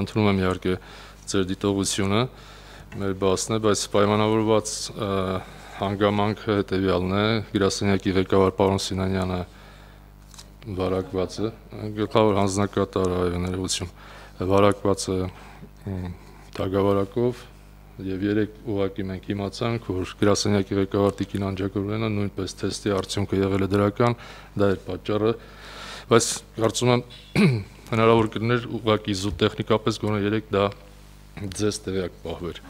ընդունում եմ իհարկե ձեր դիտողությունը, մեր բասն է, բայց պայմանավորված հանգամանքը հետևյալն է, գրասենյակի ղեկավար պարոն Սինանյանը վարակված է, գլխավոր հանձնակատար ներողություն, վարակված է թագավարակով եւ երեք ուղղակի մենք իմացանք, որ գրասենյակի ղեկավար Տիկին Անջակուրյանը նույնպես թեստի արդյունքը եղել է դրական, դա էր պատճառը, բայց կարծում եմ հնարավոր կլիներ ուղղակի զուտ տեխնիկապես գոնե երեք դա ձեզ տեղյակ պահվեր։